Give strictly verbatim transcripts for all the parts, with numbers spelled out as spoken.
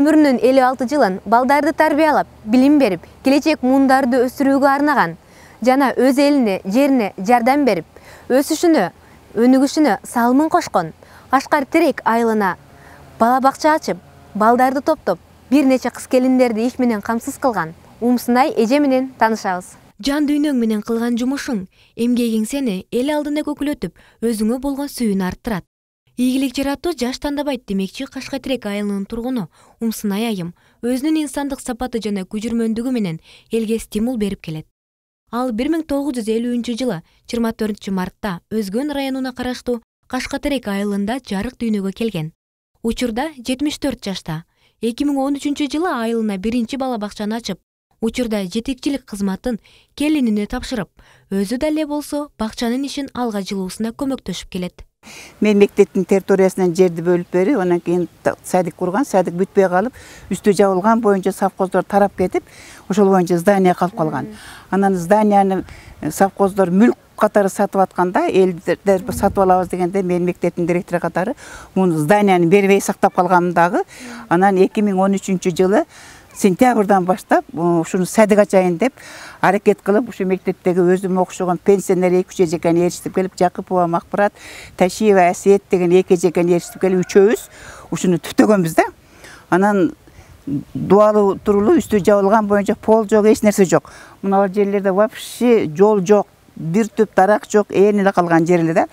Өмүрүнүн элүү алты жылын балдарды тарбиялап, билим берип, келечек муундарды өстүрүүгө арнаган жана өз элине, жерине жардам берип, өсүшүнө, өнүгүшүнө салымын кошкон Кашкар Терек айылына бала бакча ачып, балдарды топтоп, бир нече кыз келиндерди иш менен камсыз кылган Умсунай эже менен таанышабыз. Жан дүйнөң менен кылган жумушуң, эмгегиң сени эл алдында көкүлөтүп, өзүңө болгон сүйүүнү арттырат. Ийгилик жаратуу жаш тандабайт демекчи Кашкар Терек айылынын тургуну Умсунай айым өзүнүн инсандык сапаты жана күжүрмөндүгү менен элге стимул берип келет. Ал бир миң тогуз жүз элүүнчү жылы жыйырма төртүнчү мартта Өзгөн районуна караштуу Кашкар Терек айылында жарык дүйнөгө келген. Учурда жетимиш төрт жашта. эки миң он үчүнчү жылы айылына биринчи бала бакчаны ачып, учурда жетекчилик кызматын келинине тапшырып, өзү да эле болсо бакчанын ишин алга жылуусуна көмөктөшүп келет. Мен мектептин территориясынан жерди бөлүп берип, анан кийин садик курган, садик бүтпөй калып, үстү жабылган боюнча совхоздор тарап кетип, ошол боюнча здание калып калган. Анан зданияны совхоздор мүлк катары сатып атканда, элдер сатып алабыз дегенде, мен мектептин директору катары муну зданияны бербей сактап калгам дагы. Анан эки миң он үчүнчү жылы сентябрдан баштап ушуну садик ачайын деп аракет кылып, ушу мектептеги өзүм окушогон пенсионер эки үч эжекени ээрчитип келип, Жакыпова Макбарат, Ташиева Асиет деген эки эжекени ээрчитип келип, үчөөбүз ушуну түптөгөнбүз да. Анан дубалы турулуу, үстү жабылган боюнча пол жок, эч нерсе жок. Мына жерлерде вообще жол жок, бир түп дарак жок, ээн эле калган жер эле да.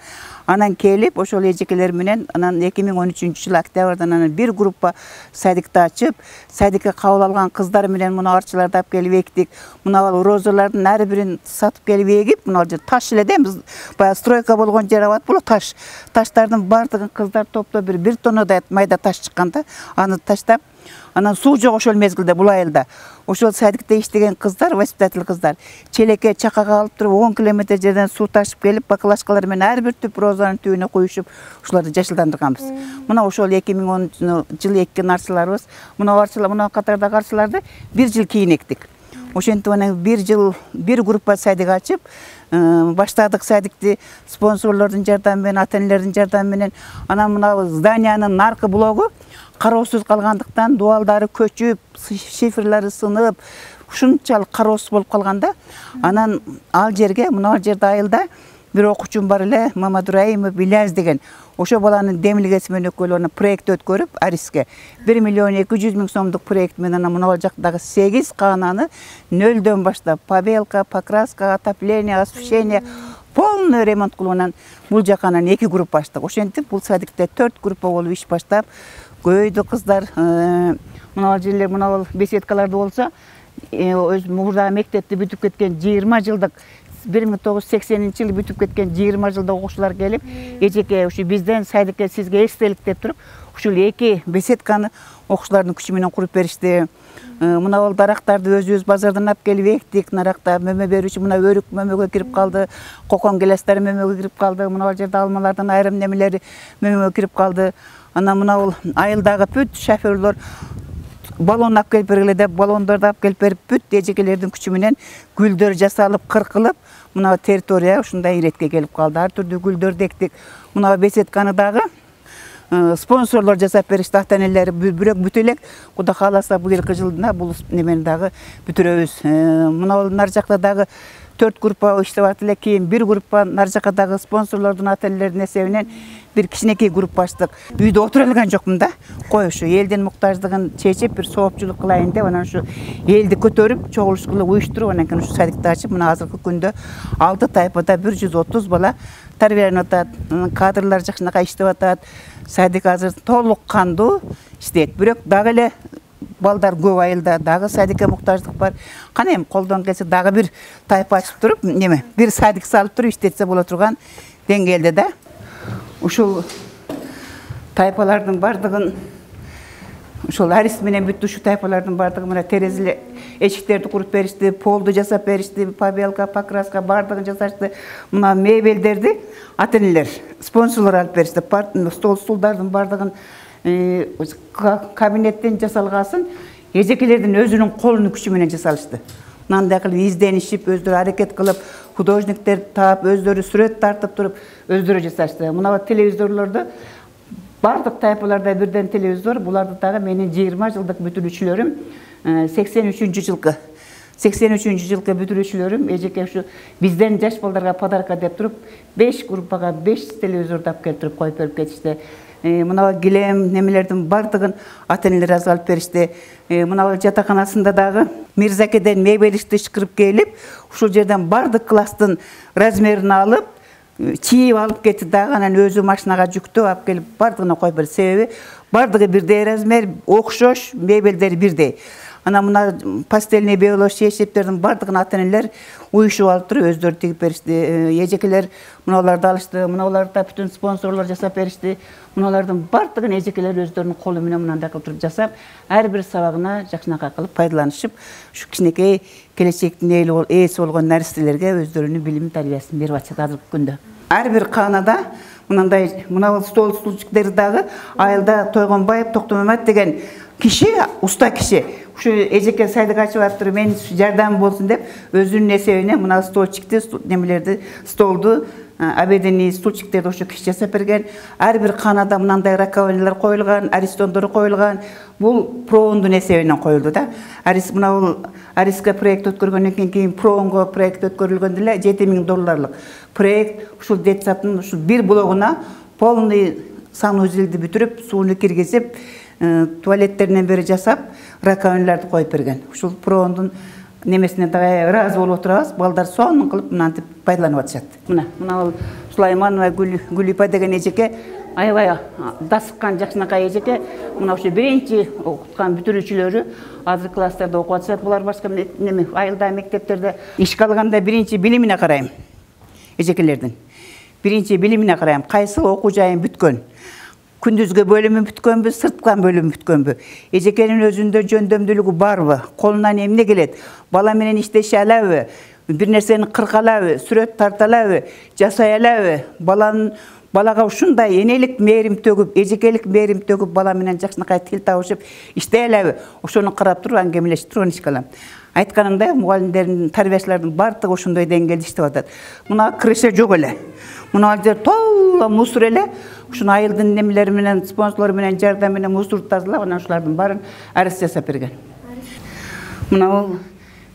Анан келип, ошол эжекелер менен анан эки миң он үчүнчү жылы октябрдан анан бир группа садикти ачып, садикке кабыл алган кыздар менен мына арчыларды алып келип эктик. Мына розалардын ар бирин сатып келип эгип, мына жер таш эле да, биз баягы стройка болгон жер абат болот, таш. Таштардын бардыгын кыздар топтоп бир бир тоннадай майда таш чыкканда, аны таштап, анан суу жок ошол мезгилде бул айылда. Ошол садикте иштеген кыздар, воспитатель кыздар, челекке чакага алып туруп он километр жерден суу ташып келип, бакалашкалар менен ар бир түп розанын түбүнө куюшуп, ушуларды жашылдандырганбыз. Мына ошол эки миң онунчу жылы эккен арчыларыбыз, мына арчылар, мына катардагы арчыларды бир жыл кийин эктик. Ошентип анан бир жыл бир группа садик ачып, баштадык садикти спонсорлордун жардамы менен, ата-энелердин жардамы менен. Анан мына зданиянын наркы блогу кароосуз калгандыктан дубалдары көчүп, шифрлары сынып, ушунчалык кароосуз болуп калганда, анан ал жерге, мына жерде айылда бир окуучум бар эле, Мамадураимов Иляс деген. Ошо баланын демилгеси менен өкөлүнө проект өткөрүп, Ариске бир миллион эки жүз миң сомдук проект менен мына жактагы сегиз каананы нөлдөн баштап побелка, покраска, отопление, освещение полный ремонт кылып, бул жака анан эки группа ачтык. Ошентип бул садикте төрт группа болуп иш баштап, көйдү кыздар, мына жерлер, мына беседкаларды болсо, өз мурдагы мектепти бүтүп кеткен жыйырма жылдык, бир миң тогуз жүз сексенинчи жылы бүтүп кеткен жыйырма жылдык окуучулар келип, эжеке ушу бизден садикке сизге эстелик деп туруп, ушул эки беседканы окуучулардын күчү менен куруп беришти. Мына ол дарактарды өзүбүз базардан алып келип эктик, наракта мөмө берүүчү мына өрүк мөмөгө кирип калды, кокон гелестер мөмөгө кирип калды, мына жерде алмалардын айрым немелери мөмөгө кирип калды. Анан мына бул айылдагы бүт шоферлор баллон алып келип бергиле деп, баллондорду алып келип берип, бүт эжекелердин күчү менен гүлдөр жасалып, кыркылып, мына территория ушундай иретке келип калды. Ар түрдүү гүлдөр дектик. Мына беседканы дагы спонсорлор жасап беришти, ата-энелери. Бирок бүтө элек, Кудай кааласа бул жылкы жылда бул немени дагы бүтүрөбүз. Мына бул нар жакта дагы төрт группа иштеп атат эле, кийин бир группа нар жакадагы спонсорлордун ата-энелердин эсебинен бир кичинекей группа ачтык. Үйдө отура алган жокмун да. Кой ушу элдин муктаждыгын чечип, бир соопчулук кылайын деп, анан ушу элди көтөрүп, чогулуш кылып, уюштуруп, анан кийин ушу садикти ачып, мына азыркы күндө алты тайпада бир жүз отуз бала тарбияланып атат. Кадрлар жакшынакай иштеп атат. Садик азыр толук кандуу иштейт. Бирок дагы эле балдар көп айылда, дагы садикке муктаждык бар. Кана эми колдон келсе дагы бир тайпа ачып туруп, неме, бир садик салып туруп иштетсе боло турган деңгээлде да. Ушул тайпалардын бардыгын, ушул Арис менен бүттү, ушу тайпалардын бардыгы мына терезеле эшиктерди куруп беришти, полду жасап беришти, побелка, покраска бардыгын жасашты. Мына мебелдерди ата-энелер, спонсорлор алып беришти. Стол стулдардын бардыгын кабинеттен жасалгасын эжекелердин өзүнүн колунун күчү менен жасалышты. Мындай кылып изденишип, өздөрү аракет кылып, художниктер таап, өздөрү сүрөт тартып туруп, өздөрү жасашты. Мына телевизорлордо бардык тайпаларда бирден телевизор. Буларды дагы менин жыйырма жылдык бүтүрүүчүлөрүм сексен үчүнчү жылкы сексен үчүнчү жылкы бүтүрүүчүлөрүм эжеке ушу бизден жаш балдарга подарка деп туруп беш группага беш телевизорду алып келип туруп коюп берип кетишти. Мына килем немелердин бардыгын ата-энелер азыр алып беришти. Мына жатаканасында дагы Мирзакеден мебель ишкирип келип, ушул жерден бардык класстын размерин алып, чийип алып кетти дагы, анан өзү машинага жүктөп алып келип бардыгына коюп берди. Себеби бардыгы бирдей размер, окшош, мебелдери бирдей. Ана мына пастельный белош шешептердин бардыгын ата-энелер уюшуп алып туруп өздөрү тигип беришти. Эжекелер мыналарды алышты, мыналарды бүтүн спонсорлор жасап беришти. Мыналардын бардыгын эжекелер өздөрүнүн колу менен мынандай кылып туруп жасап, ар бир сабагына жакшынакай кылып пайдаланышып, ушу кичинекей келечектин ээси болгон наристелерге өздөрүнүн билим тарбиясын берип атышат азыркы күндө. Ар бир каанада мындай мына стол стульчиктер дагы айылда Тойгонбаев Токтомамат деген киши, уста киши. Ушу эжеке сайдык ачып атып, мен жардам болсун деп өзүнүн эсебинен мына столчикти, немелерди, столду, обеденный стульчиктерди ошо киши жасап берген. Ар бир каанада мындай раковиналар коюлган, аристондор коюлган. Бул проондун эсебинен коюлду да. Арис мына бул Ариска проект өткөргөндөн кийин кийин проонго проект өткөрүлгөндө эле жети миң долларлык проект ушул детсадтын ушул бир блогуна полный санузелди бүтүрүп, сууну киргизип, туалеттеринен бери жасап, раковиналарды коюп берген. Ушул проондун немесине дагы ыраазы болуп отурабыз. Балдар сонун кылып мынантип пайдаланып атышат. Мына, мына бул Сулайманова Гүлипа деген эжеке аябай дасыккан жакшынакай эжеке. Мына ошо биринчи окуткан бүтүрүүчүлөрү азыр класстарда окуп атышат. Булар башка неме айылда, мектептерде ишке алганда биринчи билимине карайм. Эжекелердин биринчи билимине карайм. Кайсыл окуу жайын бүткөн. Күндүзгө бөлүмү бүткөнбү, сырткан бөлүмү бүткөнбү? Эжекенин өзүндө жөндөмдүүлүгү барбы? Колунан эмне келет? Бала менен иштеше алабы? Бир нерсени кырка алабы? Сүрөт тарта алабы? Жасай алабы? Баланын балага ушундай энелик мээрим төгүп, эжекелик мээрим төгүп, бала менен жакшынакай тил табышып иштей алабы? Ошону карап туруп аңгемелешип туруп ишке алам. Айтканымдай, мугалимдердин, тарбиячылардын бардыгы ошондой деңгээлде иштеп атат. Мына крыша жок эле. Мына жер толо мусор эле. Ушуну айылдын немелери менен, спонсорлор менен, жардам менен мусорду тазалап, анан ушулардын баарын арыз жасап берген. Мына бул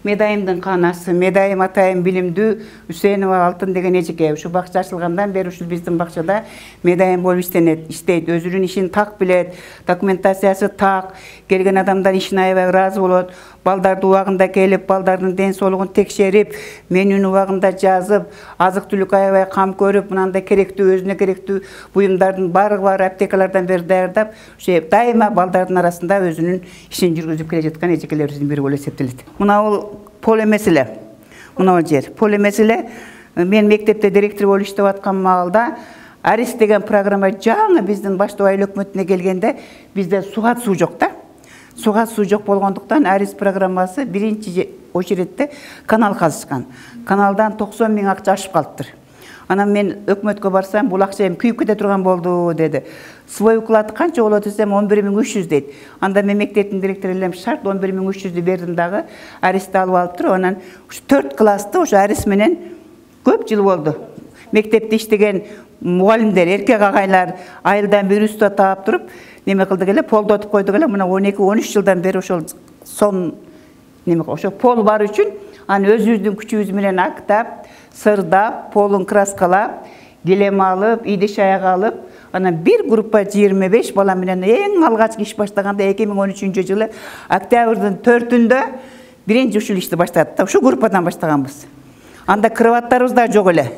Медайымдын каанасы, Медайым атайым билимдүү Үсенова Алтын деген эжеке. Ушу бакча ачылгандан бери ушул биздин бакчада Медайым болуп иштенет, иштейт, өзүнүн ишин так билет, документациясы так, келген адамдар ишине аябай ыраазы болот. Балдарды убагында келип, балдардын ден соолугун текшерип, менүүнү убагында жазып, азык-түлүк аябай кам көрүп, мынандай керектүү, өзүнө керектүү буюмдардын баардыгы бар аптекалардан бери даярдап, ошо дайыма балдардын арасында өзүнүн ишин жүргүзүп келе жаткан эжекелерибиздин бири болуп эсептелет. Мына бул пол эмес эле. Мына бул жер пол эмес эле. Мен мектепте директор болуп иштеп аткан маалда Арис деген программа жаңы биздин баштоо айыл өкмөтүнө келгенде бизде суга суу жок да. Суга суу жок болгондуктан Арис программасы биринчи очередде канал казышкан. Каналдан токсон миң акча ашып калыптыр. Анан мен өкмөткө барсам, бул акча эми күйүп кете турган болду деди. Свой уклад канча болот десем, он бир миң үч жүз дейт. Анда мен мектептин директору элем шарт он бир миң үч жүздү бердим дагы, Аристи алып алып туруп, анан ушу төрт классты ошо Арис менен көп жыл болду. Мектепте иштеген мугалимдер, эркек агайлар айылдан бир уста таап туруп, неме кылдык эле, полдотуп койдук эле. Мына он эки он үч жылдан бери ошол сон неме ошо пол бар үчүн аны өзүбүздүн күчүбүз менен актап, сырдап, полун краскалап, килем алып, идиш аяк алып, анан бир группа жыйырма беш бала менен эң алгачкы иш баштаганда эки миң он үчүнчү жылы октябрдын төртүндө биринчи ушул ишти баштадык. Ушу группадан баштаганбыз. Анда кроваттарыбыз да жок эле.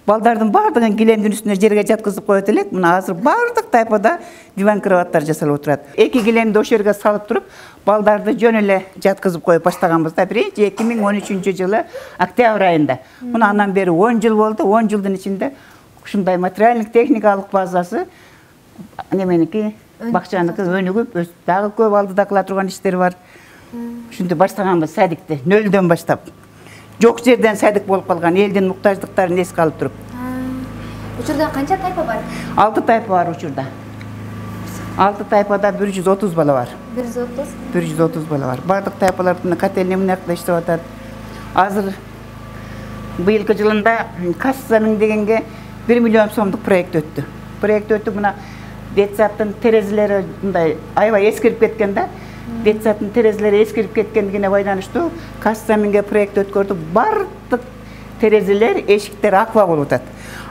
Балдардын бардыгын килемдин үстүнө жерге жаткызып коет элек. Мына азыр бардык тайпада диван кроваттар жасалып отурат. Эки килемди ошол жерге салып туруп, балдарды жөн эле жаткызып коюп баштаганбыз да биринчи эки миң он үчүнчү жылы октябрь айында. Мына андан бери он жыл болду. он жылдын ичинде ушундай материалдык техникалык базасы неменики, бакчаныкы өнүгүп, дагы көп алдыда кыла турган иштер бар. Ушинтип баштаганбыз садикти нөлдөн баштап. Жок жерден садик болуп калган, элдин муктаждыктарын эске алып туруп. Учурда канча тайпа бар? алты тайпа бар учурда. алты тайпада бир жүз отуз бала бар. бир жүз отуз? бир жүз отуз бала бар. Бардык тайпалардын котельный мынакта иштеп атат. Азыр быйылкы жылында касса миң дегенге бир миллион сомдук проект өттү. Проект өтүп, мына детсадтын терезелери мындай аябай эскирип кеткен да. Детсадтын терезелери эскирип кеткендигине байланыштуу Казцаминге проект өткөрдүк. Бардык терезелер, эшиктер аква болуп атат.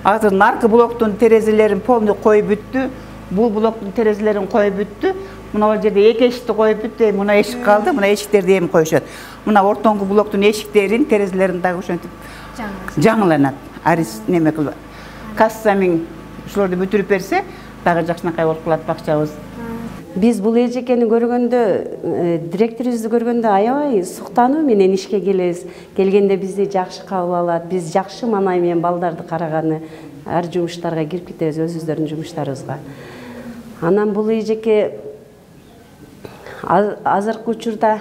Азыр наркы блоктун терезелерин полный коюп бүттү. Бул блоктун терезелерин коюп бүттү. Мына жерде эки эшикти коюп бүттү. Мына эшик калды. Мына эшиктерди эми коюшат. Мына ортоңку блоктун эшиктерин, терезелерин дагы ошентип жаңыланат. Арис неме кылып. Казцамин ушуларды бүтүрүп берсе, дагы жакшынакай болуп калат бакчабыз. Биз бул эжекени көргөндө, директорубузду көргөндө аябай суктануу менен ишке келебиз. Келгенде бизди жакшы кабыл алат. Биз жакшы маанай менен балдарды караганы, ар жумуштарга кирип кетебиз өзүбүздөрдүн жумуштарыбызга. Анан бул эжеке азыркы учурда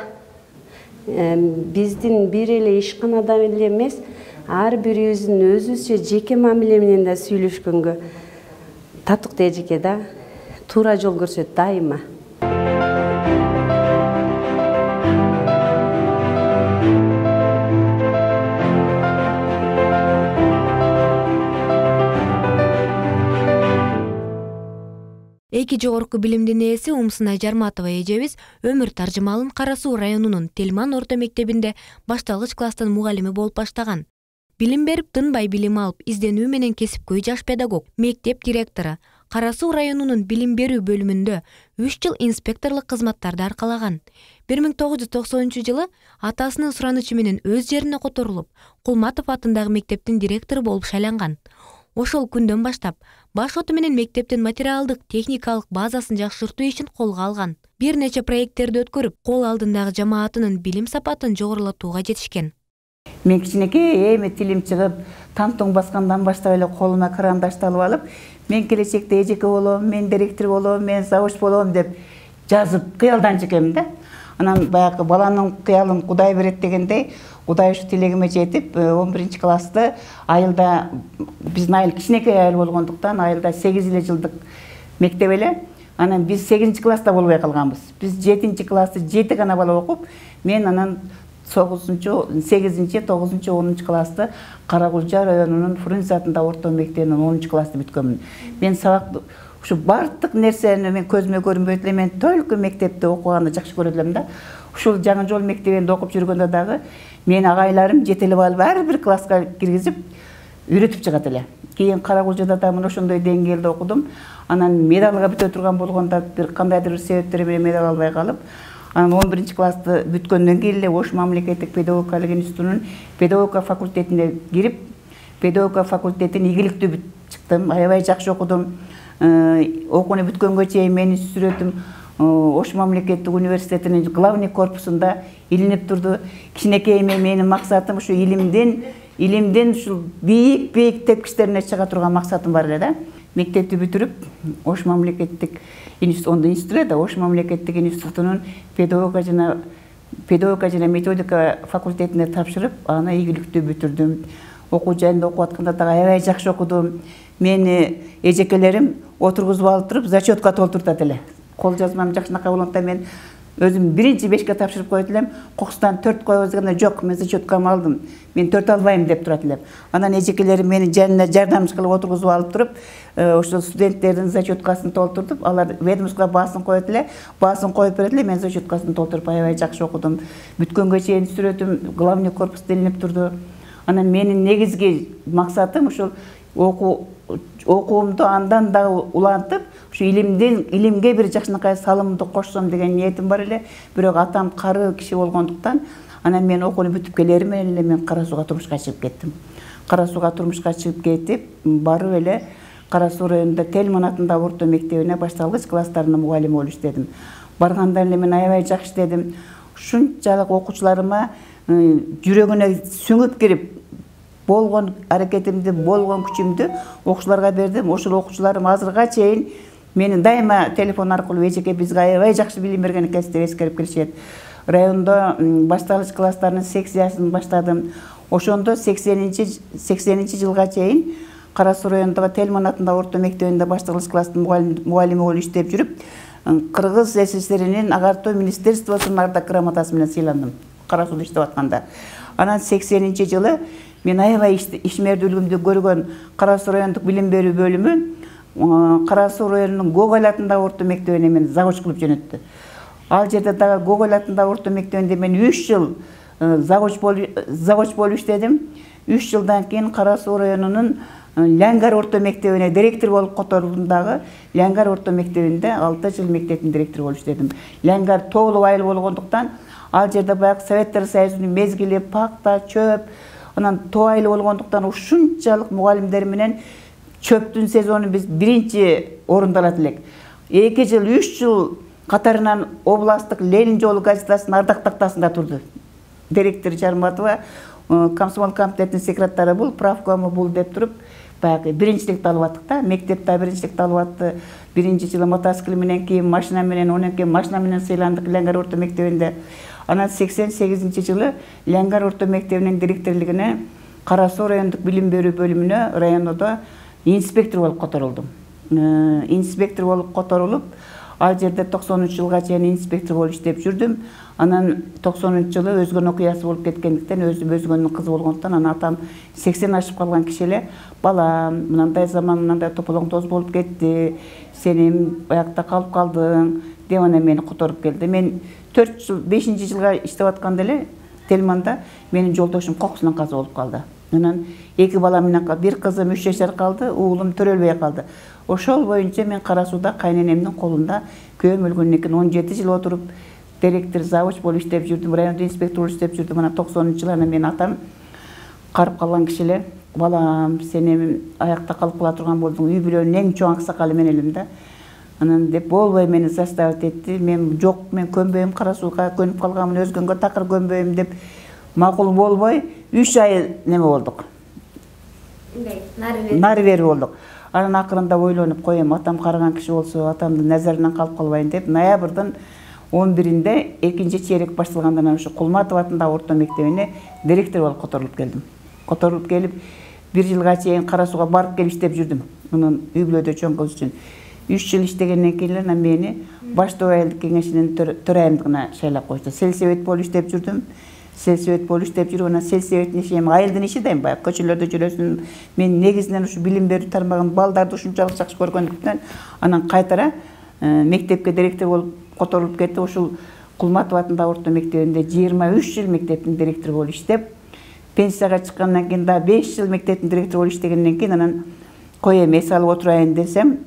биздин бир эле ишканада эле эмес, ар бирибиздин өзүбүзчө жеке мамиле менен да сүйлөшкөнгө татыктуу эжеке да. Туура жол көрсөт дайыма. Эки жогорку билимдин ээси Умсынай Жарматова эжебиз өмүр таржымалын Кара Суу районунун Телман орто мектебинде башталгыч класстын мугалими болуп баштаган. Билим берип, тынбай билим алып, изденүү менен кесипкөй жаш педагог, мектеп директору. Кара Суу районунун билим берүү бөлүмүндө үч жыл инспекторлук кызматтарды аркалаган. бир миң тогуз жүз токсонунчу жылы атасынын суранычы менен өз жерине которулуп, Кулматов атындагы мектептин директору болуп шайланган. Ошол күндөн баштап баш оту менен мектептин материалдык, техникалык базасын жакшыртуу ишин колго алган. Бир нече проекттерди өткөрүп, кол алдындагы жамаатынын билим сапатын жогорулатууга жетишкен. Мен кичинекей эми тилим чыгып, тантоң баскандан баштап эле колума карандашты алып алып, мен келечекте эжеке болом, мен директор болом, мен завуч болом деп жазып кыялданчу экенмин да. Анан баягы баланын кыялын Кудай берет дегендей, Кудай ушу тилегиме жетип, он биринчи классты айылда, биздин айыл кичинекей айыл болгондуктан айылда сегиз эле жылдык мектеп эле. Анан биз сегизинчи класста болбой калганбыз. Биз жетинчи классты жети гана бала окуп, мен анан тогузунчу, сегизинчи, тогузунчу, онунчу классты Каракулча районунун Фрунзе атындагы орто мектебинин онунчу классты бүткөнмүн. Мен сабак ушу бардык нерсени мен көзүмө көрүнбөйт эле, мен только мектепте окуганды жакшы көрөт элем да. Ушул Жаңы жол мектебинде окуп жүргөндө дагы мен агайларым жетелеп алып ар бир класска киргизип үйрөтүп чыгат эле. Кийин Каракулчада да мына ошондой деңгээлде окудум. Анан медалга бүтө турган болгондо бир кандайдыр бир себептер менен медаль албай калып, анан он биринчи классты бүткөндөн кийин эле Ош мамлекеттик педагогикалык институтунун педагогика факультетине кирип, педагогика факультетин ийгиликтүү бүтүп чыктым. Аябай жакшы окудум. Окууну бүткөнгө чейин менин сүрөтүм Ош мамлекеттик университетинин главный корпусунда илинип турду. Кичинекей менин максатым ушу илимден, илимден ушул бийик-бийик тепкичтерине чыга турган максатым бар эле да. Мектепти бүтүрүп, Ош мамлекеттик институт, институт да Ош мамлекеттик институтунун педагогика жана педагогика жана методика факультетине тапшырып, аны ийгиликтүү бүтүрдүм. Окуу жайында окуп атканда дагы аябай жакшы окудум. Мени эжекелерим отургузуп алып туруп, зачетка толтуртат эле. Кол жазмам жакшынакай болгондо мен өзүм биринчи бешке тапшырып коет элем. Кокустан төрт коебуз дегенде жок, мен зачеткамы алдым. Мен төрт албайм деп турат элем. Анан эжекелерим мени жанына жардамчы кылып отургузуп алып туруп, ошол студенттердин зачеткасын толтуртуп, алар ведомствого баасын коет эле, баасын коюп берет эле, мен зачеткасын толтуруп аябай жакшы окудум. Бүткөнгө чейин сүрөтүм главный корпуста илинип турду. Анан менин негизги максатым ушул окуу окуумду андан дагы улантып, ушу илимден илимге бир жакшынакай салымымды кошсом деген ниетим бар эле. Бирок атам кары киши болгондуктан, анан мен окууну бүтүп келери менен эле мен Кара Сууга турмушка чыгып кеттим. Кара Сууга турмушка чыгып кетип, барып эле Кара Суу районунда Телман атындагы орто мектебине башталгыч класстарынын мугалими болуп иштедим. Барганда эле мен аябай жакшы иштедим. Ушунчалык окуучуларыма жүрөгүнө сүңүп кирип, болгон аракетимди, болгон күчүмдү окуучуларга бердим. Ошол окуучуларым азырга чейин мени дайыма телефон аркылуу эжеке бизге аябай жакшы билим берген экенсиз деп эскерип келишет. Райондо башталгыч класстарынын секциясын баштадым. Ошондо сексенинчи жылга чейин Кара Суу районундагы Телман атындагы орто мектебинде башталгыч класстын мугалими болуп иштеп жүрүп, Кыргыз СССРинин агартуу министерствосунун ардак грамотасы менен сыйландым. Кара Сууда иштеп атканда. Анан сексенинчи жылы мен аябай ишмердүүлүгүмдү көргөн Кара Суу райондук билим берүү бөлүмү Кара Суу районунун Гоголь атындагы орто мектебине мени завуч кылып жөнөттү. Ал жерде дагы Гоголь атындагы орто мектебинде мен үч жыл завуч болуп иштедим. үч жылдан кийин Кара Суу районунун Ляңгар орто мектебине директор болуп которулдум дагы. Ляңгар орто мектебинде алты жыл мектептин директору болуп иштедим. Ляңгар тоолуу айыл болгондуктан ал жерде баягы Советтер Союзунун мезгили, пакта, чөп, анан тоо айыл болгондуктан ушунчалык мугалимдер менен чөптүн сезону биз биринчи орунда алат элек. эки жыл, үч жыл катарынан областтык Ленин жолу газетасынын ардак тактасында турду. Директор Жарматова комсомол комитетинин секретары бул, правкому бул деп туруп, баягы биринчиликти алып аттык да, мектепте биринчиликти алып атты. Биринчи жылы мотоцикл менен, кийин машина менен, анан кийин машина менен сыйландык Ляңгар орто мектебинде. Анан сексен сегизинчи жылы Ляңгар орто мектебинин директорлугуна Кара Суу райондук билим берүү бөлүмүнө райондо инспектор болуп которулдум. Инспектор болуп которулуп, ал жерде токсонунчу жылга чейин инспектор болуп иштеп жүрдүм. Анан токсонунчу жылы өзгөн окуясы болуп кеткендиктен, өзүм өзгөнүн кызы болгондуктан, анан атам сексен ашып калган киши эле, балам, мындай заман мындай тополоң тоз болуп кетти, сен аякта калып калдың деп анан мени которуп келди. Мен төрт жыл, бешинчи жылга иштеп атканда эле Телманда менин жолдошум кокусунан каза болуп калды. Анан эки бала менен бир кызым үч жашар калды, уулум төрөлбөй калды. Ошол боюнча мен Кара Сууда кайненемдин колунда күйөөм өлгөндөн кийин он жети жыл отуруп директор, завуч болуп иштеп жүрдүм, райондо инспектор болуп иштеп жүрдүм. Анан токсонунчу жылы анан менин атам карып калган киши эле, балам, сен эми аякта калып кала турган болдуң, үй бүлөнүн эң чоң аксакалы мен элем да. Анан деп болбой мени заставить этти. Мен жок, мен көнбөйм, Кара Сууга көнүп калганмын, өзгөнгө такыр көнбөйм деп макул болбой үч ай неме болдук. Нары бери болдук. Анан акырында ойлонуп коем, атам караган киши болсо, атамдын назарынан калып калбайын деп ноябрдын он биринде экинчи чейрек башталгандан ошо Кулматов атындагы орто мектебине директор болуп которулуп келдим. Которулуп келип, бир жылга чейин Кара Сууга барып келип иштеп жүрдүм. Мунун үй бүлөдө чоң кыз үчүн. үч жыл иштегенден кийин эле мени баштоо айылдык кеңешинин төрайымдыгына шайлап койду. Сельсовет болуп иштеп жүрдүм. Сельсовет болуп иштеп жүрүп, анан сельсоветтин иши эми айылдын иши да, эми баягы көчөлөрдө жүрөсүн. Мен негизинен ушу билим берүү тармагын балдарды ушунчалык жакшы көргөндүктөн анан кайтара мектепке директор болуп которулуп кетти. Ушул Кулматов атындагы орто мектебинде жыйырма үч жыл мектептин директору болуп иштеп, пенсияга чыккандан кийин да беш жыл мектептин директору болуп иштегенден кийин анан коем эс алып отурайын десем,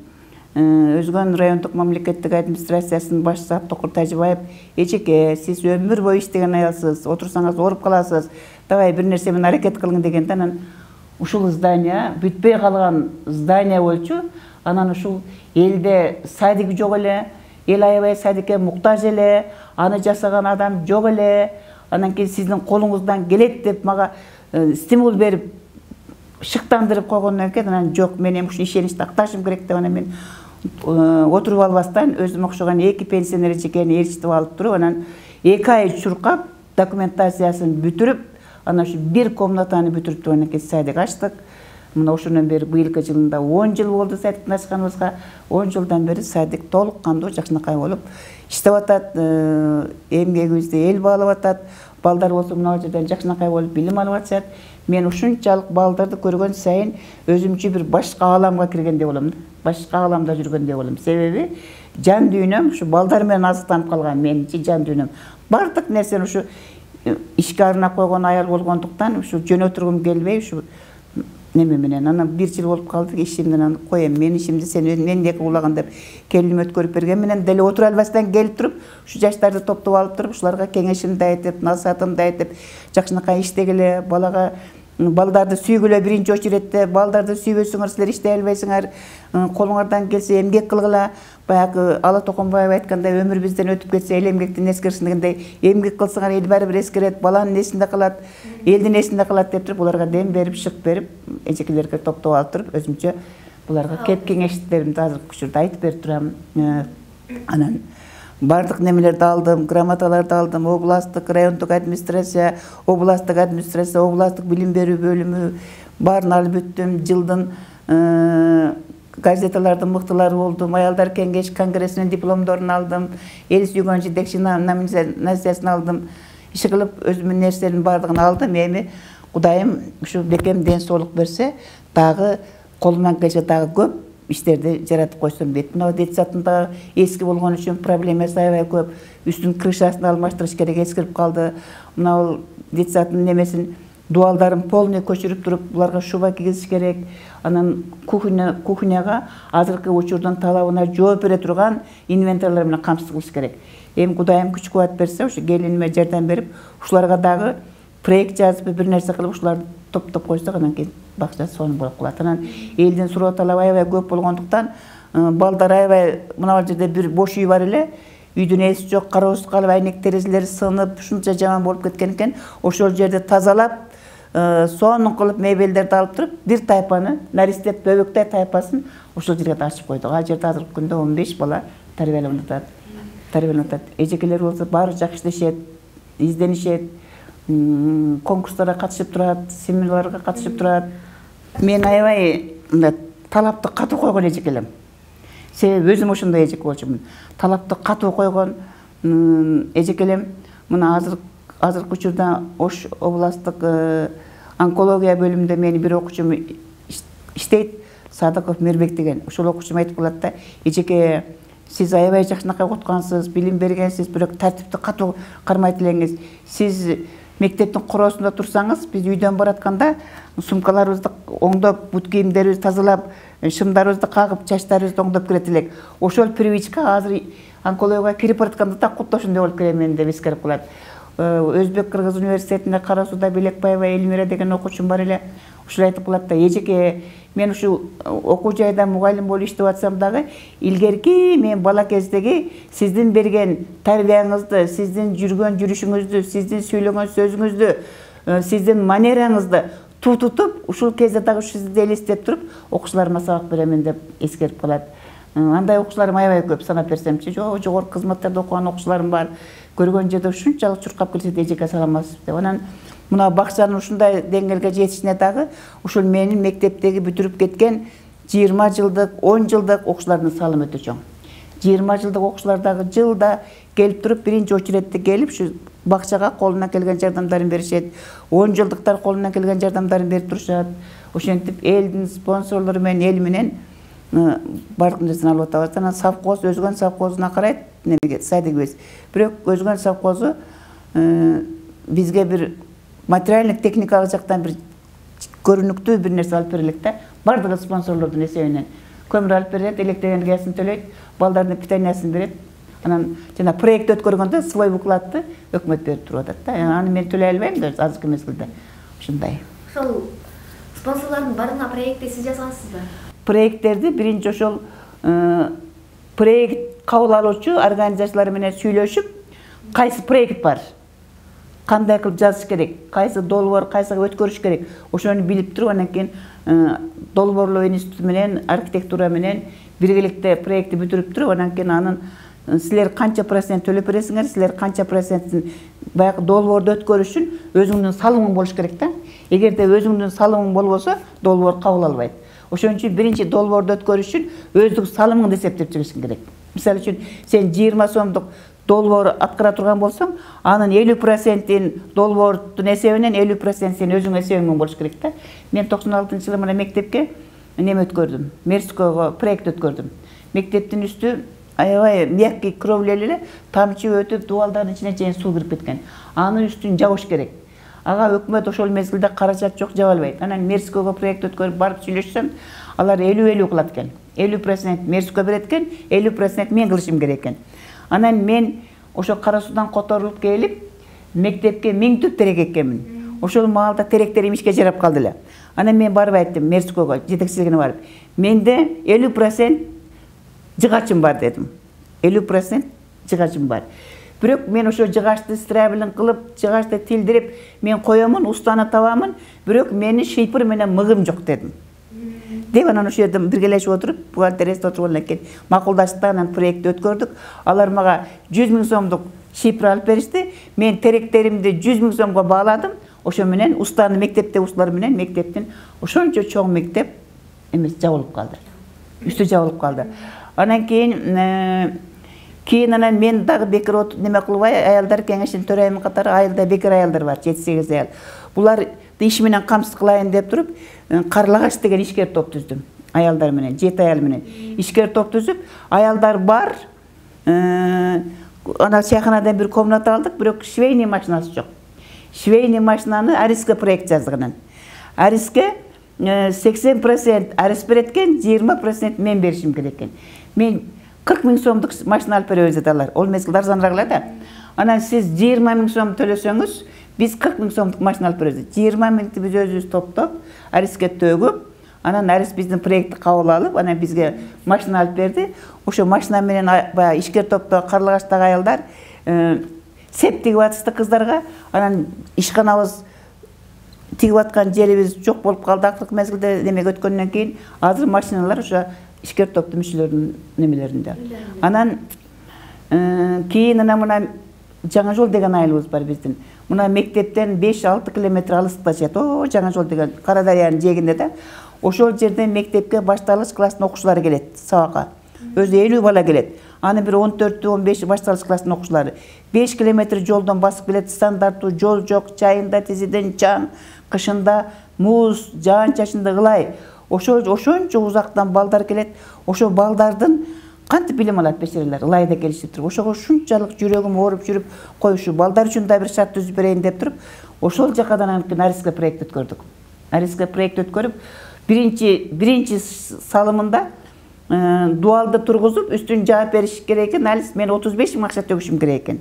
өзгөн райондук мамлекеттик администрациясынын башчысы Аптокур Тажыбаев, эчеке, сиз өмүр бою иштеген аялсыз, отурсаңыз ооруп каласыз, давай бир нерсе менен аракет кылгын дегенде, анан ушул здание бүтпөй калган здание болчу. Анан ушул элде садик жок эле, эл аябай садикке муктаж эле, аны жасаган адам жок эле. Анан кийин сиздин колуңуздан келет деп мага стимул берип, шыктандырып койгондон кийин анан жок, мен эми ушу ишеничти акташым керек деп анан мен отуруп албастан өзүм окшогон эки пенсионер эчекени ээрчитип алып туруп, анан эки ай чуркап, документациясын бүтүрүп, анан ушу бир комнатаны бүтүрүп туруп анан кийин садик ачтык. Мына ошондон бери быйылкы жылында он жыл болду садиктин ачканыбызга. он жылдан бери садик толук кандуу жакшынакай болуп иштеп атат. Эмгегибизди эл баалап атат. Балдар болсо мына жерден жакшынакай болуп билим алып атышат. Мен ушунчалык балдарды көргөн сайын өзүмчө бир башка ааламга киргендей болом. Башка ааламда жүргөндөй болом. Себеби жан дүйнөм ушу балдар менен азыктанып калган, менинчи жан дүйнөм. Бардык нерсени ушу ишке арнап койгон аял болгондуктан ушу жөнөтүргүм келбей ушу неме менен анан бир жыл болуп калды, ишимден анан коем, мен ишимди сен мендеки улаган деп келиnim өткөрүп берген менен деле отура албастан келип туруп, ушу жаштарды топтоп алып туруп, ушуларга кеңешимди айтып, насаатымды айтып, жакшынакай иштегиле, балага балдарды сүйгүлө, биринчи очередте балдарды сүйбөсөңөр силер иштей албайсыңар, колуңардан келсе эмгек кылгыла. Баягы Ала Токонбаева айткандай, өмүр бизден өтүп кетсе эл эмгектин эскерсин дегендей, эмгек кылсаңар эл баары бир эскерет, баланын эсинде калат, элдин эсинде калат деп туруп, буларга дем берип, шык берип, эжекелерге топтоп алып туруп, өзүмчө буларга кеп кеңештеримди азыркы учурда айтып берип турам. Анан бардык немелерди алдым, грамоталарды алдым, областтык, райондук администрация, областтык администрация, областтык билим берүү бөлүмү баарын алып бүттүм. Жылдын газеталардын мыктылары болдум, аялдар кеңеш конгрессинин дипломдорун алдым, эл сүйгөн жетекчи номинациясын алдым. Иши кылып өзүмдүн нерселердин баардыгын алдым. Эми Кудайым ушу бекем ден соолук берсе, дагы колумдан келсе дагы көп иштерди жаратып койсом дейт. Мына детсадтын да эски болгон үчүн проблемасы аябай көп. Үстүн крышасын алмаштырыш керек, эскирип калды. Мына детсадтын немесин дуалдарын полный көчүрүп туруп, буларга шуба кийгизиш керек. Анан кухня кухняга азыркы учурдун талабына жооп бере турган инвентарлар менен камсыз кылыш керек. Эми Кудайым күч кубат берсе, ошо келиниме жардам берип, ушуларга дагы проект жазып, бир нерсе кылып, ушуларды топтоп койсок, анан кийин бакча сонун болуп калат. Анан элдин суроо талабы аябай көп болгондуктан, балдар аябай мына жерде бир бош үй бар эле, үйдүн эси жок, кароосуз калып, айнек терезелери сынып, ушунча жаман болуп кеткен экен. Ошол жерди тазалап, сонун кылып мебелдерди алып туруп, бир тайпаны, Наристет Бөбөктай тайпасын ошол жерге ачып койдук. Ал жерде азыркы күндө он беш бала тарбияланып атат. Тарбияланып атат. Эжекелер болсо баары жакшы иштешет, изденишет, конкурстарга катышып турат, семинарларга катышып турат. Мен аябай талапты катуу койгон эжекелем. Себеби өзүм ошондой эжеке болчумун. Талапты катуу койгон эжекелем. Мына азыр азыркы учурда Ош областтык онкология бөлүмүндө менин бир окуучум иштейт, Садыков Мирбек деген. Ошол окуучум айтып калат да, эжеке, сиз аябай жакшынакай окуткансыз, билим бергенсиз, бирок тартипти катуу кармайт элеңиз. Сиз мектептин короосунда турсаңыз, биз үйдөн баратканда сумкаларыбызды оңдоп, бут кийимдерибизди тазалап, шымдарыбызды кагып, чачтарыбызды оңдоп кирет элек. Ошол привычка азыр онкологияга кирип баратканда да кутта ошондой болуп келемен деп эскерип калат. Өзбек Кыргыз университетинде Карасуда Белекбаева Элмира деген окуучум бар эле. Ушул айтып калат да, эжеке, мен ушул окуу жайда мугалим болуп иштеп атсам дагы, илгерки мен бала кездеги сиздин берген тарбияңызды, сиздин жүргөн жүрүшүңүздү, сиздин сүйлөгөн сөзүңүздү, сиздин манераңызды тутутуп, ушул кезде дагы сизди элестеп туруп, окуучуларыма сабак беремин деп эскерип калат. Андай окуучуларым аябай көп, санап берсемчи, жок, жогорку кызматтарда окуган окуучуларым бар. Көргөн жерде ушунчалык чуркап келсе эжеке саламатсыз деп. Анан мына бакчанын ушундай деңгээлге жетишине дагы ушул менин мектептеги бүтүрүп кеткен жыйырма жылдык, он жылдык окуучулардын салымы өтө чоң. жыйырма жылдык окуучулар дагы жылда келип туруп, биринчи очередте келип, ушу бакчага колунан келген жардамдарын беришет. он жылдыктар колунан келген жардамдарын берип турушат. Ошентип элдин спонсорлору менен, эл менен бардык нерсени алып атабыз. Анан совхоз өзгөн совхозуна карайт, немеге садигибиз. Бирок өзгөн совхозу бизге бир материалдык техникалык жактан бир көрүнүктүү бир нерсе алып берелик да. Бардыгы спонсорлордун эсебинен. Көмүр алып берет, электр энергиясын төлөйт, балдардын питаниясын берет. Анан жана проект өткөргөндө свой выкладты өкмөт берип туруп атат да. Аны мен төлөй албайм да азыркы мезгилде. Ушундай. Ошол спонсорлордун баарына проектти сиз жазгансызбы? Проекттерди биринчи ошол проект кабыл алуучу организациялар менен сүйлөшүп, кайсы проект бар, кандай кылып жазыш керек, кайсы долбоор, кайсыга өткөрүш керек, ошону билип туруп, анан кийин долбоорлоо институту менен, архитектура менен биргеликте проектти бүтүрүп туруп, анан кийин анын силер канча процент төлөп бересиңер, силер канча процентин баягы долбоорду өткөрүш үчүн өзүңдүн салымың болуш керек да. Эгерде өзүңдүн салымың болбосо, долбоор кабыл албайт. Ошон үчүн биринчи долбоорду өткөрүш үчүн өзүң салымыңды эсептеп чыгышың керек. Мисалы үчүн сен жыйырма сомдук долбоор аткара турган болсоң, анын элүү процентин долбоордун эсебинен элүү процент сен өзүң эсебиң болуш керек да. Мен токсон алтынчы жылы мына мектепке неме өткөрдүм, Мерского проект өткөрдүм. Мектептин үстү аябай мягкий кровлеле эле, тамчы өтүп, дуалдардын ичине чейин суу кирип кеткен. Анын үстүн жабыш керек. Ага өкмөт ошол мезгилде каражат жок, жаба албайт. Анан Мерского проект өткөрүп барып сүйлөшсөм, алар элүү элүү кылат экен. элүү процент Мерско берет экен, элүү процент мен кылышым керек экен. Анан мен ошо Карасуудан которулуп келип, мектепке миң түп терек эккенмин. Ошол маалда теректерим ишке жарап калды эле. Анан мен барып айттым Мерского, жетекчилигине барып, менде элүү процент жыгачым бар дедим. элүү процент жыгачым бар. Бирок мен ошо жыгачты стравелин кылып, жыгачты тилдирип, мен коёмун, устаны табамын, бирок менин шыйпыр менен мыгым жок дедим. Деп анан ошол жерде биргелешип отуруп, бухгалтерияда отургандан кийин макулдаштык, анан проектти өткөрдүк. Алар мага жүз миң сомдук шыйпыр алып беришти. Мен теректеримди жүз миң сомго бааладым. Ошо менен устаны мектепте усталар менен мектептин ошончо чоң мектеп эмес жабылып калды. Үстү жабылып калды. Анан кийин Кийин анан мен дагы бекер неме кылбай, аялдар кеңешинин төрайымы катары айылда бекер аялдар бар, жети сегиз аял. Булар иш менен камсыз кылайын деп туруп, Карлагаш деген ишкер топ түздүм. аялдар менен, жети аял менен ишкер топ түзүп, аялдар бар. Ана чайханадан бир комната алдык, бирок швейный машинасы жок. Швейный машинаны Ариске проект жаздыгынан. Ариске сексен процент Арис берет экен, жыйырма процент мен беришим керек экен. Мен кырк миң сомдук машина алып беребиз деп алар. Ол мезгилде арзаныраак эле да. Анан сиз жыйырма миң сом төлөсөңүз, биз кырк миң сомдук машина алып беребиз. жыйырма миңди биз өзүбүз топтоп, Ариске төгүп, анан Арис биздин проектти кабыл алып, анан бизге машина алып берди. Ошо машина менен баягы ишкер топто Карлыгачтагы аялдар сеп тигип атышты кыздарга. Анан ишканабыз тигип аткан жерибиз жок болуп калды акыркы мезгилде немеге өткөндөн кийин. Азыр машиналар ошо ишкер топтун мүчөлөрүнүн немелеринде. Анан кийин ана мына Жаңа жол деген айылыбыз бар биздин. Мына мектептен беш алты километр алыстыкта жатат. О, Жаңа жол деген Кара Дарыянын жээгинде да. Ошол жерден мектепке башталгыч класстын окуучулары келет, сабакка. Өзү элүү бала келет. Аны бир он төртү он беш башталгыч класстын окуучулары. беш километр жолдон басып келет, стандарттуу жол жок, чайында тизиден чаң, кышында муз, жаан-чачында ылай. Ошол ошончо узактан балдар келет. Ошо балдардын кантип билим алат бешерелер, ылайда келишип туруп. Ошого ушунчалык жүрөгүм ооруп жүрүп, кой ушу балдар үчүн да бир шарт түзүп берейин деп туруп, ошол жакадан анан Ариске проект өткөрдүк. Ариске проект өткөрүп, биринчи биринчи салымында дуалды тургузуп, үстүн жаап бериш керек экен. Алис мен отуз беш миң акча төгүшүм керек экен.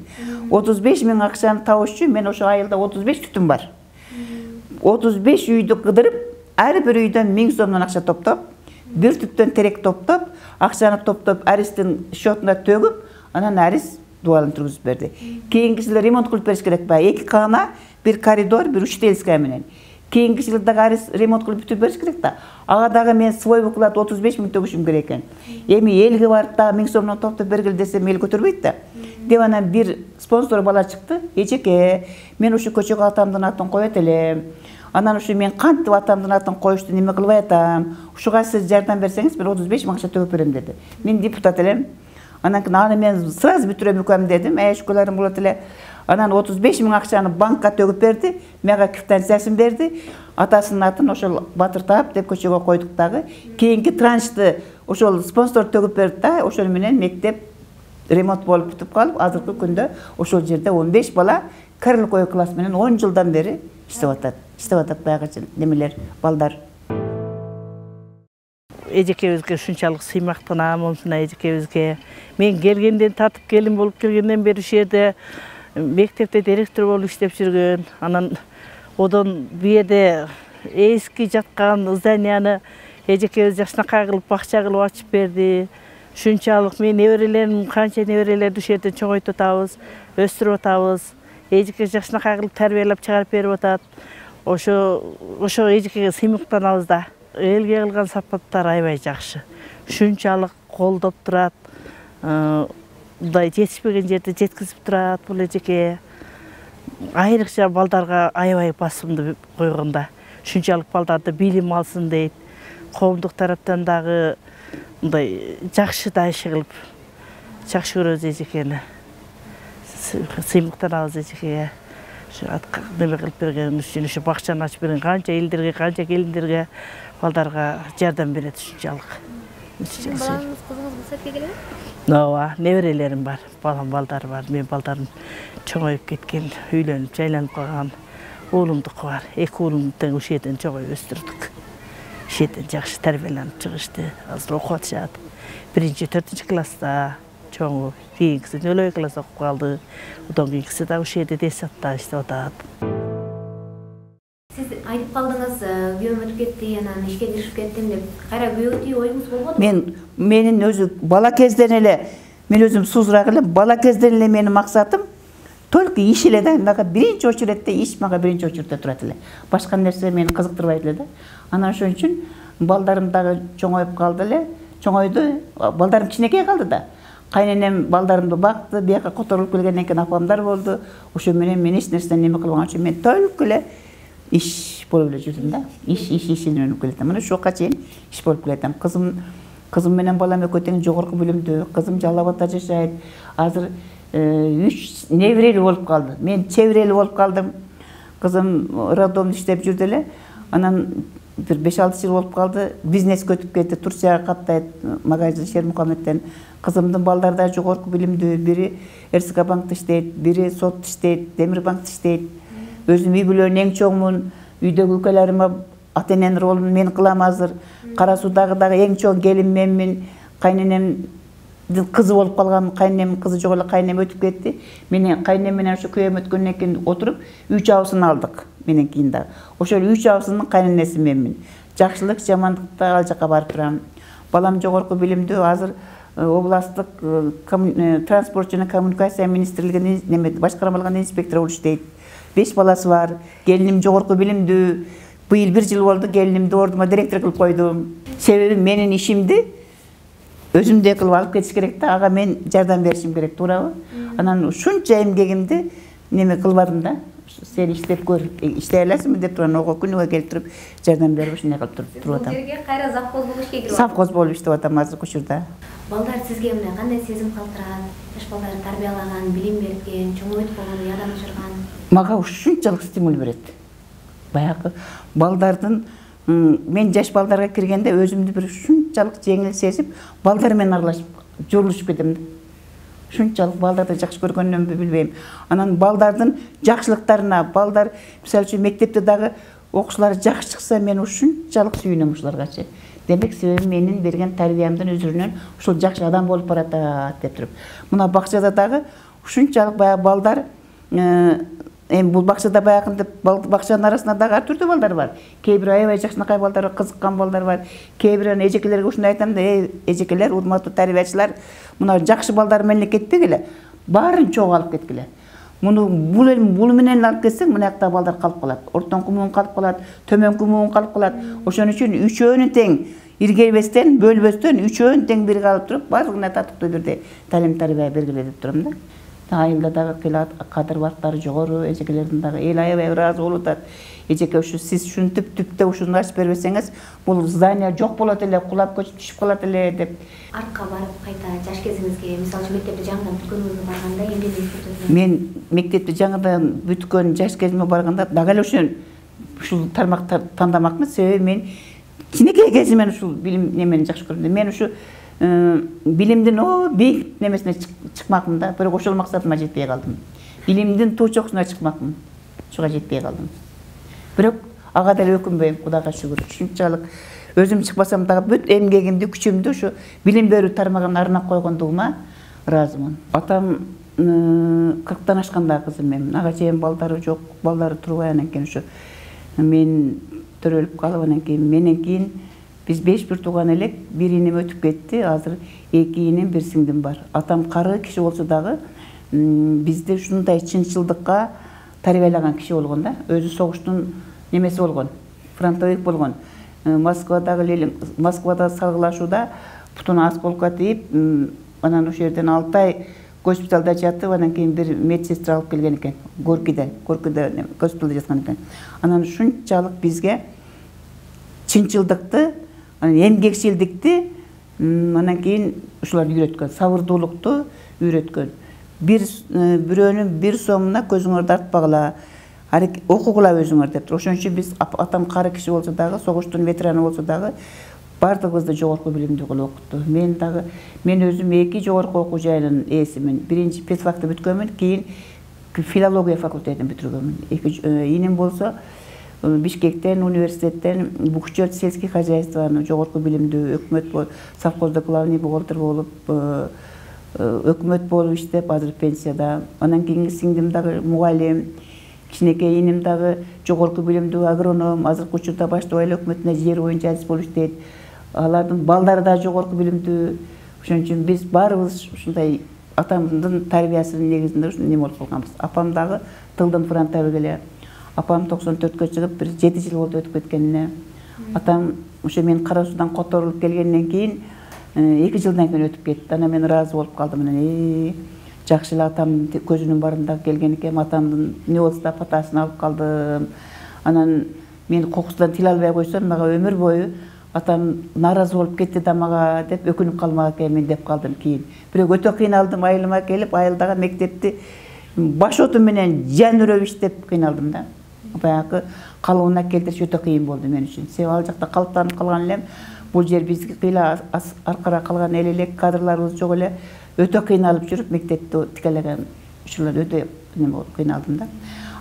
отуз беш миң акчаны табыш үчүн мен ошо айылда отуз беш түтүн бар. отуз беш үйдү кыдырып, ар бир үйдөн миң сомдон акча топтоп, бир түптөн терек топтоп, акчаны топтоп Аристин счетуна төгүп, анан Арис дуалын тургузуп берди. Кийинки жылы ремонт кылып бериш керек ба? эки кана, бир коридор, бир учительская менен. Кийинки жылы дагы Арис ремонт кылып бүтүп бериш керек да. Ага дагы мен свой выклад отуз беш миң төгүшүм керек экен. Эми элге барып дагы миң сомдон топтоп бергил десем эл көтөрбөйт да. Деп анан бир спонсор бала чыкты. Эжеке, мен ушу көчөгө атамдын атын коет элем. Анан ушу мен кантип атамдын атын коюшту неме кылбай атам. Ушуга сиз жардам берсеңиз, мен отуз беш миң акча төгүп берем деди. Мен депутат элем. Анан кийин аны мен сразу бүтүрөм экөөм дедим. Э, шүкүрлөрүм болот эле. Анан отуз беш миң акчаны банкка төгүп берди. Мага квитанциясын берди. Атасынын атын ошол Батыр Таап деп көчөгө койдук дагы. Кийинки траншты ошол спонсор төгүп берди да. Ошол менен мектеп ремонт болуп бүтүп калып, азыркы күндө ошол жерде он беш бала Карлыкой класс менен он жылдан бери иштеп атат. Иштеп атат баягы немелер, балдар. Эжекебизге ушунчалык сыймактанам, монсуна эжекебизге. Мен келгенден тартып келин болуп келгенден бери ушул жерде мектепте директор болуп иштеп жүргөн. Анан одон бу жерде эски жаткан зданияны эжекебиз жакшынакай кылып бакча кылып ачып берди. Ушунчалык мен неберелерим, канча неберелерди ушул жерде чоңойтуп атабыз, өстүрүп атабыз. Эжеке жакшынакай кылып тарбиялап чыгарып берип атат. Ошо ошо эжекеге сыймыктанабыз да. Элге кылган сапаттар аябай жакшы. Ушунчалык колдоп турат. Мындай жетишпеген жерде жеткизип турат бул эжеке. Айрыкча балдарга аябай басымды койгонда. Ушунчалык балдарды билим алсын дейт. Коомдук тараптан дагы мындай жакшы да иш кылып, жакшы көрөбүз эжекени. Сыймыктанабыз эжекеге. Неме кылып берген үчүн, ушу бакчаны ачып берген канча элдерге, канча келиндерге, балдарга жардам берет ушунчалык. Балаңыз, кызыңыз бул сетке келеби? Ооба, неберелерим бар, балам балдар бар. Мен балдарым чоңоюп кеткен, үйлөнүп, жайланып калган уулумдуку бар. Эки уулумду тең ушул жерден чоңоюп өстүрдүк. Ушул жерден жакшы тарбияланып чыгышты. Азыр окуп атышат. Биринчи, төртүнчү класста чоңу, кийинкиси нөл класс окуп калды. Одан кийинкиси да ушул жерде детсадта иштеп атат. Сиз айтып калдыңыз, күйөөм өтүп кетти, анан ишке киришип кеттим деп. Кайра күйөөгө тийүү оюңуз болбодубу? Мен менин өзү бала кезден эле, мен өзүм сузураак элем, бала кезден эле менин максатым только иш эле да. Мага биринчи очередте иш мага биринчи очередте турат эле. Башка нерсе мени кызыктырбайт эле да. Анан ошон үчүн балдарым дагы чоңоюп калды эле. Чоңойду, балдарым кичинекей калды да. Кайненем балдарымды бакты, бияка которулуп келгенден кийин апамдар болду. Ошо менен мен эч нерседен неме кылбаган үчүн мен только эле иш болуп эле жүрдүм да. Иш, иш, иш менен келетем. Мына ушуга чейин иш болуп келетем. Кызым, кызым менен балам экөө тең жогорку бөлүмдө. Кызым Жалал Абадта жашайт. Азыр үч неберели болуп калды. Мен чеберели болуп калдым. Кызым роддомдо иштеп жүрдү эле. Анан бир беш алты жыл болуп калды. Бизнеске өтүп кетти. Турцияга каттайт. Магазин Шермухаммедтен. Кызымдын балдары да жогорку билимдүү. Бири РСК банкта иштейт, бири сотто иштейт, Темир банкта иштейт. Өзүм үй бүлөнүн эң чоңмун. Үйдөгү өлкөлөрүмө ата эненин ролун мен кылам азыр. Кара Суудагы дагы эң чоң келин менмин. Кайненем кызы болуп калган, кайненемдин кызы жок эле, кайненем өтүп кетти. Менен кайненем менен ошо күйөөм өткөндөн кийин отуруп үч абысын алдык. Менен кийин дагы. Ошол үч абысынын кайненеси менмин. Жакшылык, жамандыкта ал жака барып турам. Балам жогорку билимдүү, азыр областтык транспорт жана коммуникация министрлигинин неме башкармалыгынын инспектору болуп иштейт. беш баласы бар. Келиним жогорку билимдүү. Быйыл бир жыл болду келинимди ордума директор кылып койдум. Себеби менин ишимди өзүмдөй кылып алып кетиш керек да, ага мен жардам беришим керек, туурабы? Анан ушунча эмгегимди неме кылбадым да. Сен иштеп көр, иштей аласыңбы деп турган, ого күнүгө келип туруп жардам берип ушундай кылып туруп атам. Бул жерге кайра завхоз болуп ишке кирип атам. Совхоз болуп иштеп атам азыр учурда. Балдар сизге эмне кандай сезим калтырат? Жаш балдарды тарбиялаган, билим берген, чоңойт болгону ядан учурган? Мага ушунчалык стимул берет. Баягы балдардын мен жаш балдарга киргенде өзүмдү бир ушунчалык жеңил сезип, балдар менен аралашып, жолугушуп кетем. Ушунчалык балдарды жакшы көргөнүмдү билбейм. Анан балдардын жакшылыктарына, балдар мисалы үчүн мектепте дагы окуушулары жакшы чыкса, мен ушунчалык сүйүнөм ушуларгачы. Демек себеби менин берген тарбиямдын өзүрүнөн ушул жакшы адам болуп баратат деп туруп. Мына бакчада дагы ушунчалык баягы балдар эми бул бакчада баягынды бакчанын арасында дагы ар түрдүү балдар бар. Кээ бир аябай жакшынакай балдар бар, кызыккан балдар бар. Кээ бир эжекелерге ушундай айтам да, эй эжекелер, урматтуу тарбиячылар, мына жакшы балдар менен кетпегиле, баарын чогуу алып кеткиле. Муну бул бул менен алып кетсең, мына жакта балдар калып калат. Ортоңку муун калып калат, төмөнкү муун калып калат. Ошон үчүн үчөөнү тең иргелбестен, бөлбөстөн үчөөнү тең бирге алып туруп, баардыгына татыктуу бирдей талим тарбия бергиле деп турам да. Айылда дагы кыйлат, кадыр бактары жогору, эжекелердин дагы эл аябай ыраазы болуп атат. Эжеке ушу сиз ушинтип түптө ушуну ачып бербесеңиз, бул здание жок болот эле, кулап көчүп түшүп калат эле деп. Артка барып кайта жаш кезиңизге, мисалы үчүн мектепти жаңыдан бүткөнүңүзгө барганда эмгегиңизди? Мен мектепти жаңыдан бүткөн жаш кезиме барганда дагы эле ушул ушул тармакты тандамакмын, себеби мен кичинекей кезимден ушул билим немени жакшы көрдүм. Мен ушу билимдин о бийик немесине чыкмакмын да, бирок ошол максатыма жетпей калдым. Билимдин туу чокусуна чыкмакмын. Ушуга жетпей калдым. Бирок ага деле өкүнбөйм, Кудайга шүгүр. Ушунчалык өзүм чыкпасам дагы бүт эмгегимди, күчүмдү ушу билим берүү тармагына арнап койгондугума ыраазымын. Атам кырктан ашканда кызым мен. Ага чейин балдары жок, балдары турбай, анан кийин ушу мен төрөлүп калып, анан кийин менен кийин биз беш бир тууган элек, бир инем өтүп кетти, азыр эки инем, бир сиңдим бар. Атам кары киши болсо дагы бизди ушундай чынчылдыкка тарбиялаган киши болгон да. Өзү согуштун немеси болгон, фронтовик болгон. Москвадагы Москвада салгылашууда бутуна осколка тийип, анан ошол жерден алты ай госпиталда жатып, анан кийин бир медсестра алып келген экен. Горкиде, Горкиде госпиталда жаткан экен. Анан ушунчалык бизге чынчылдыкты, эмгекчилдикти, анан кийин ушулар үйрөткөн, сабырдуулукту үйрөткөн. Бир бирөөнүн бир сомуна көзүңөрдү артпагыла, окугула өзүңөр деп. Ошон үчүн биз атам кары киши болсо дагы, согуштун ветераны болсо дагы бардыгыбызды жогорку билимдүү кылып окутту. Мен дагы мен өзүм эки жогорку окуу жайынын ээсимин. Биринчи педфакты бүткөнмүн, кийин филология факультетин бүтүргөнмүн. Эки инем болсо Бишкектен, университеттен бухучет сельских хозяйствоны жогорку билимдүү өкмөт совхозда главный бухгалтер болуп, өкмөт болуп иштеп, азыр пенсияда. Анан кийинки сиңдим дагы мугалим, кичинекей инем дагы жогорку билимдүү агроном, азыркы учурда баштап айыл өкмөтүнө жер боюнча адис болуп иштейт. Алардын балдары да жогорку билимдүү. Ошон үчүн биз баарыбыз ушундай атамдын тарбиясынын негизинде ушундай неме болуп калганбыз. Апам дагы тылдын фронтовик эле. Апам токсон төрткө чыгып, бир жети жыл болду өтүп кеткенине. Атам ошо мен Кара Суудан которулуп келгенден кийин эки жылдан кийин өтүп кетти. Анан мен ыраазы болуп калдым. Анан жакшы эле атам көзүнүн барында келген экен, атамдын эмне болсо да патасын алып калдым. Анан мен кокусунан тил албай койсом, мага өмүр бою атам нааразы болуп кетти да мага деп өкүнүп калмак экенмин деп калдым кийин. Бирок өтө кыйналдым, айылыма келип, айылдагы мектепти баш оту менен жан үрөп иштеп кыйналдым да. баягы калыбына келтириш өтө кыйын болду мен үчүн. Себеби ал жакта калыптанып калган элем. Бул жер бизге кыйла аркара калган эл элек, кадрларыбыз жок эле. Өтө кыйналып жүрүп мектепти тикелеген учурлар өтө неме болуп кыйналдым да.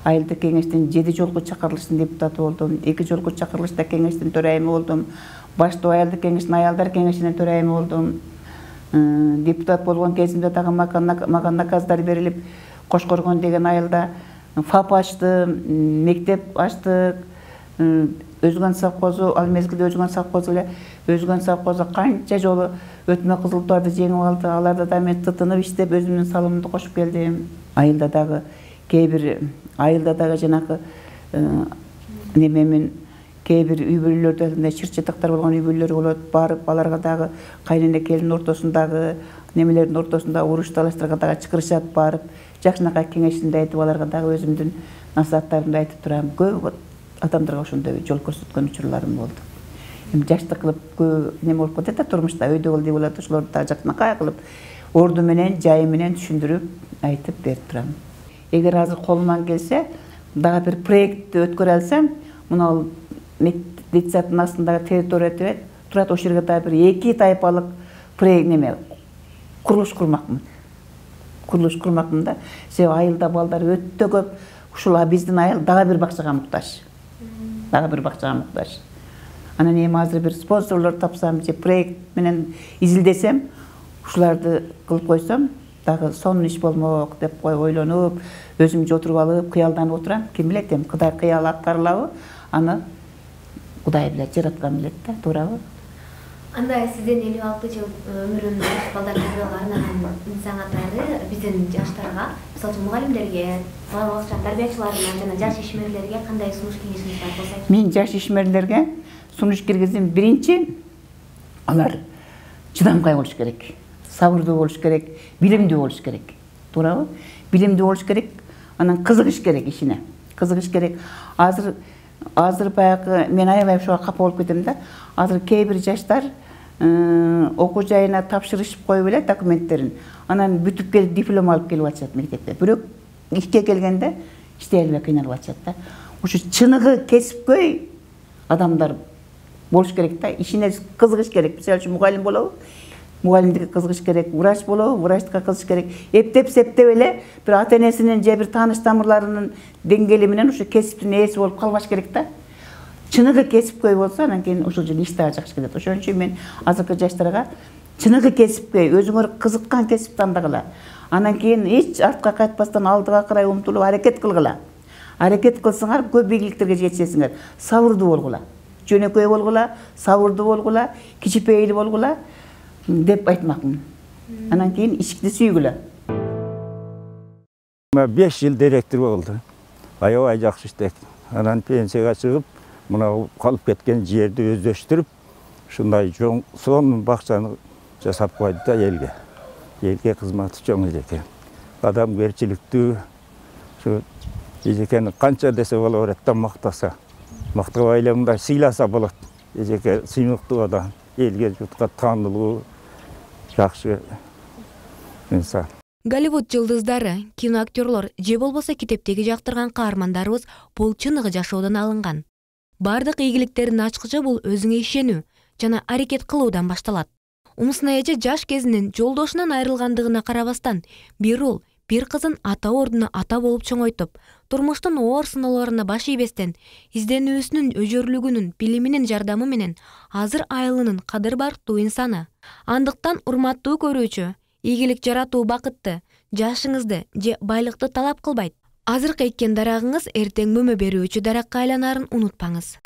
Айылдык кеңештин жети жолку чакырылыштын депутаты болдум. эки жолку чакырылышта кеңештин төрайымы болдум. Баштоо айылдык кеңештин аялдар кеңешинин төрайымы болдум. Депутат болгон кезимде дагы мага наказдар берилип, Кошкоргон деген айылда ФАП ачтым, мектеп ачтык. Өзгөн совхозу, ал мезгилде өзгөн совхозу эле, өзгөн совхозу канча жолу өтмө кызылтуарды жеңип алды. Аларда да мен тытынып иштеп өзүмдүн салымымды кошуп келдим. Айылда дагы кээ бир айылда дагы жанагы немемин кээ бир үй бүлөлөрдө чыр чатактар болгон үй бүлөлөр болот. Барып аларга дагы кайнене келин ортосундагы немелердин ортосунда уруш талаштарга дагы чакырышат, барып жакшынакай кеңешинде айтып аларга дагы өзүмдүн насааттарымды айтып турам. Көп адамдарга ошондой жол көрсөткөн учурларым болду. Эми жаштык кылып көп неме болуп кетет да турмушта, өйдө кыл деп болот, ошолорду дагы жакшынакай кылып орду менен, жайы менен түшүндүрүп айтып берип турам. Эгер азыр колуман келсе, дагы бир проектти өткөрө алсам, мына детсадтын астындагы территория деп турат, ошол жерге дагы бир эки тайпалык проект неме курулуш курмакмын. Курулуш курмакмын да. Себеби айылда балдар өтө көп. Ушул биздин айыл дагы бир бакчага муктаж. Дагы бир бакчага муктаж. Анан эми азыр бир спонсорлор тапсам, же проект менен изилдесем, ушуларды кылып койсом, дагы сонун иш болмок деп кой ойлонуп, өзүм отуруп алып, кыялданып отурам. Ким билет, эми Кудай кыял аткарылабы, аны Кудай билет, жараткан билет да, туурабы? Анда сиздин элүү алты жыл өмүрүн балдар тарбияга арнаган саңаттарды биздин жаштарга, мисалы мугалимдерге, бала бакча тарбиячыларына жана жаш ишмерлерге кандай сунуш кеңешиңиз бар болсо? Мен жаш ишмерлерге сунуш киргиздим. Биринчи, алар чыдамкай болуш керек, сабырдуу болуш керек, билимдүү болуш керек. Туурабы? Билимдүү болуш керек, анан кызыгыш керек ишине. Кызыгыш керек. Азыр азыр баягы мен аябай ошого капа болуп кетем да. Азыр кээ бир жаштар окуу жайына тапшырышып коюп эле документтерин. Анан бүтүп келип диплом алып келип атышат мектепте. Бирок ишке келгенде иштей албай кыйналып атышат да. Ушу чыныгы кесипкөй адамдар болуш керек да. Ишине кызыгыш керек. Мисалы үчүн мугалим болобу? Мугалимдикке кызыгыш керек. Врач болобу? Врачтыкка кызыгыш керек. Эптеп септеп эле бир ата-энесинин же бир тааныш тамырларынын деңгээли менен ушу кесиптин ээси болуп калбаш керек да. Чыныгы кесипкөй болсо, анан кийин ошол жерде иш дагы жакшы кетет. Ошон үчүн мен азыркы жаштарга чыныгы кесипкөй, өзүңөр кызыккан кесип тандагыла. Анан кийин эч артка кайтпастан алдыга карай умтулуп аракет кылгыла. Аракет кылсаңар көп ийгиликтерге жетишесиңер. Сабырдуу болгула. Жөнөкөй болгула, сабырдуу болгула, кичипейил болгула деп айтмакмын. Анан кийин ишти сүйгүлө. беш жыл директор болду. Аябай жакшы иштеп. Анан пенсияга чыгып, мына калып кеткен жерди өздөштүрүп, ушундай чоң сонун бакчаны жасап койду да элге. Элге кызматы чоң экен. Адамгерчиликтүү, ушу эжекени канча десе боло берет да, мактаса. Мактабай эле мындай сыйласа болот. Эжеке сыймыктуу адам, элге журтка таанылуу, жакшы инсан. Голливуд жылдыздары, киноактерлор же болбосо китептеги жактырган каармандарыбыз бул чыныгы жашоодон алынган. Бардык ийгиликтердин ачкычы бул өзүңө ишенүү жана аракет кылуудан башталат. Умсна эже жаш кезинен жолдошунан айрылгандыгына карабастан, бир уул, бир кызын ата ордуна ата болуп чоңойтуп, турмуштун оор сыноолоруна баш ийбестен, изденүүсүнүн өжөрлүгүнүн, билиминин жардамы менен азыр айылынын кадыр барктуу инсаны. Андыктан урматтуу көрүүчү, ийгилик жаратуу бакытты, жашыңызды же байлыкты талап кылбайт. Азыркы эккен дарагыңыз эртең мөмө берүүчү даракка айланарын унутпаңыз.